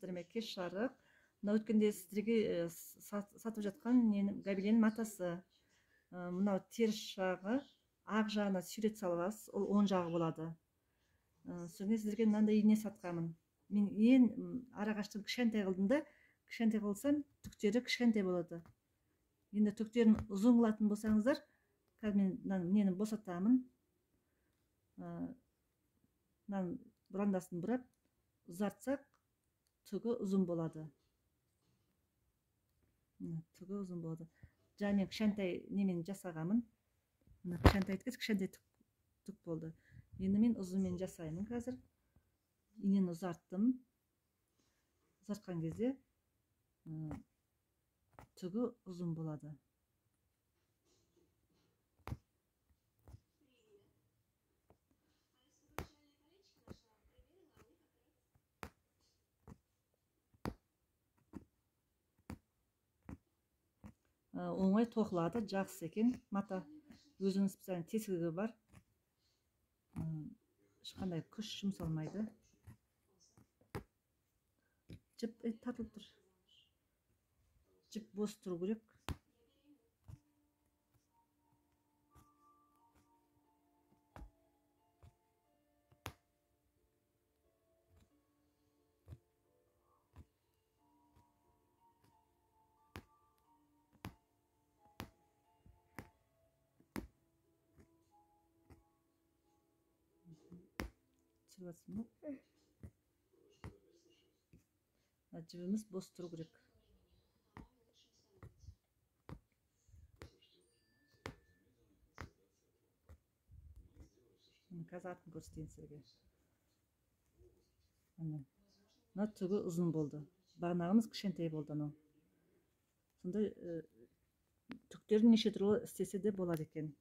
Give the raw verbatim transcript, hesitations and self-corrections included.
көрүңүздөр эмеки шарык. Мына өткөндө сиздерге сатып жаткан габеленин матасы. Мына терс жагы, ак жагына сүрөт салып аласыз, ол оң жагы болот. Соң сиздерге мындай ийне сатканмын. Мен эң арагачты кичинтей кылдым да, кичинтей кылсам түктөрү кичинтей болот. Эndi түктөрүн узун кылатын болсаңыздар, қазір мен мынаны босатамын. Мынаны бурандасын бурап, узартсак, түгү узун болот. Түгү узун болот. Жана мен кичинтей немени жасаганмын. Мына кичинтей эткес кичинтей түк болду. Эndi мен узун менен жасаймын азыр. Ийнени узарттым. Узарткан кезде түгү узун болот. Оңой токулат, жакшы экен. Мата өзүнүн специальный тесиги бар. Эч кандай күч жумшалмайды. Жип тартылып тур. Жип бос туру керек. Түсүрүп атсың да? Жибimiz бос туру керек. Қазір артын көрсетейін сіздерге. Мына түгі ұзын болды. Бағанағымыз кішкентай болды анау. Сонда түктерін неше түрлі істесе де болады екен.